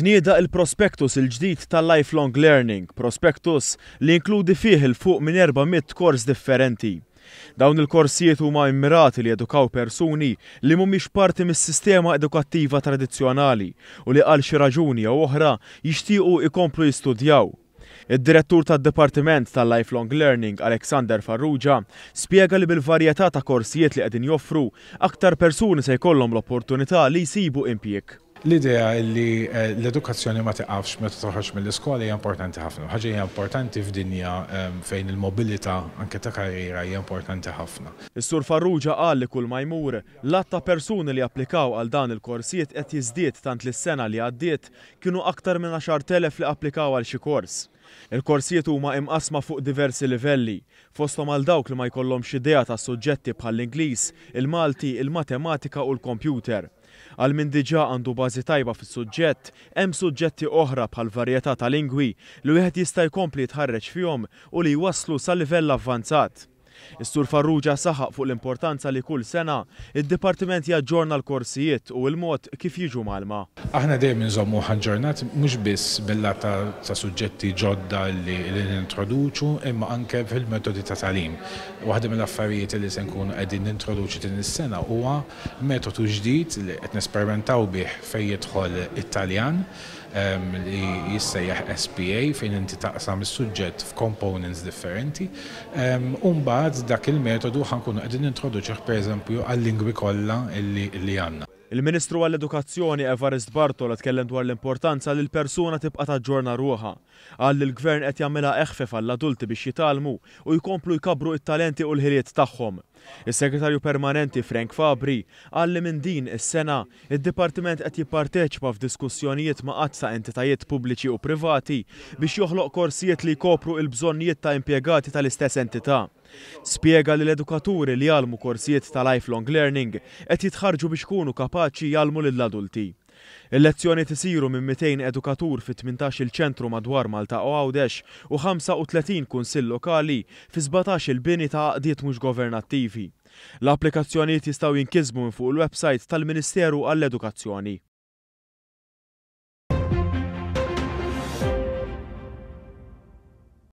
Tnieda il-prospectus il-ġdid tal-Lifelong Learning, prospectus li jinkludi fih 'il fuq minn 400 kors differenti. Dawn il-korsijiet huma immirati li jedukaw persuni li mhumiex parti mis-sistema edukattiva tradizzjonali u li għal xi raġuni jew oħra jixtiequ ikomplu jistudjaw. Id-direttur tad-Dipartiment tal-Lifelong Learning, Alexander Farrugia, spjega li bil-varjetà ta' korsijiet li qegħdin joffru, aktar persuni se jkollhom l-opportunità li jsibu impjieg. L-idea li l-edukazzjoni ma tiqafx meta toħroġ mill-iskola hija importanti ħafna. Ħaġa hija importanti f'dinja fejn il-mobilità anke ta' karriera hija importanti ħafna. Is-Sur Farrugia qal li kull ma jmur, l-għadd ta' persuni li applikaw għal dan il-korsijiet qed jiżdied tant li s-sena li għaddiet kienu aktar minn 10,000 li applikaw għal xi kors. Il-korsijiet huma imqasma fuq diversi livelli, fosthom għal dawk li ma jkollhomx idea ta' suġġetti bħall-Ingliż, il-Malti, il-Matematika u l-kompjuter. Għal min diġà għandu bażi tajba fis-suġġett, hemm suġġetti oħra bħal varjetà ta' lingwi li wieħed jista' jkompli jitħarreġ fihom u li jwasslu sa livell avvanzat. Is-Sur Farrugia saħaq fuq l-importanza li kull sena id-dipartiment jaġġorna l-korsijiet u l-mod kif jiġu mgħallma. Aħna dejjem inżommu aġġornat mhux biss bil-lat ta' suġġetti ġodda li nintroduċu, imma anke fil-metodi ta' tagħlim. Waħda mill-affarijiet li se nkunu qegħdin nintroduċu din is-sena huwa metodu ġdid li qed nesperimentaw bih fejn jidħol it-Taljan, li jissejjaħ SPA, fejn inti taqsam is-suġġett f'components differenti. U mbagħad dak il-metodu ħa nkunu qegħdin nintroduċuh, pereżempju, għal-lingwi kollha li għandna. Il-Ministru għall-Edukazzjoni Evarist Bartolo tkellem dwar l-importanza li l-persuna tibqa' taġġorna ruħha. Qal li l-gvern qed jagħmilha eħfef għall-adulti biex jitgħallmu u jkomplu jkabru it-talenti u l-ħiliet tagħhom. Is-Segretarju Permanenti Frank Fabri qal li minn din is-sena id-Dipartiment qed jipparteċipa f'diskussjonijiet ma' għadd ta' entitajiet pubbliċi u privati biex joħloq korsijiet li jkopru il-bżonnijiet ta' impjegati tal-istess entità. Spjega li l-edukaturi li jgħallmu korsijiet ta' lifelong learning qed jitħarġu biex ikunu kapaċi jgħallmu lill-adulti. Il-lezzjonijiet isiru minn 200 edukatur fi 18 il-ċentru madwar Malta u Għawdex u 35 kunsill lokali fi 17 il-bini ta' għaqdiet mhux governattivi. L-applikazzjonijiet jistgħu jinkisbu minn fuq il-website tal-Ministeru għall-Edukazzjoni.